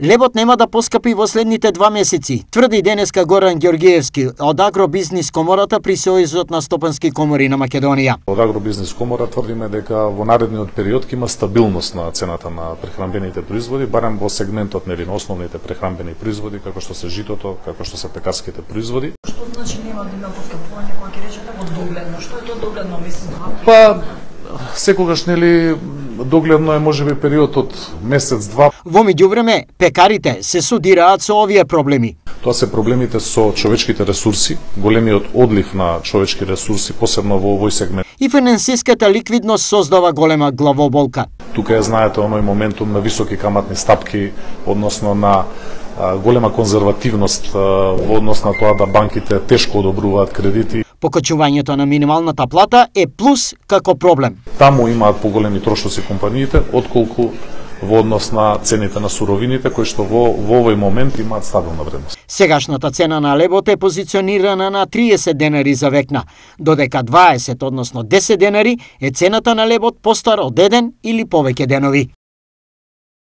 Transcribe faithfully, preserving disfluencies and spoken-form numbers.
Лебот нема да поскапи во следните два месеци, тврди денеска Горан Ѓоргиевски од Агробизнис комората при Сојузот на стопански комори на Македонија. Од Агробизнис комора тврдиме дека во наредниот период ќе има стабилност на цената на прехранбените производи, барем во сегментот нели на основните прехранбени производи како што се житото, како што се пекарските производи. Што значи нема да има поскапување, кога ќе речете од догледно? Што е тоа догледно, мислам? Па секогаш нели догледно е можеби период од месец-два. Во меѓувреме, пекарите се судираат со овие проблеми. Тоа се проблемите со човечките ресурси, големиот одлив на човечки ресурси, посебно во овој сегмент. И финансиската ликвидност создава голема главоболка. Тука е, знаете, оној моментум на високи каматни стапки, односно на а, голема конзервативност а, во однос на тоа да банките тешко одобруваат кредити. Покачувањето на минималната плата е плюс како проблем. Таму имаат поголеми трошоци компаниите, отколку во однос на цените на суровините, кои што во, во овој момент имаат стабилна вредност. Сегашната цена на лебот е позиционирана на триесет денари за векна, додека дваесет, односно десет денари е цената на лебот постар од еден или повеќе денови.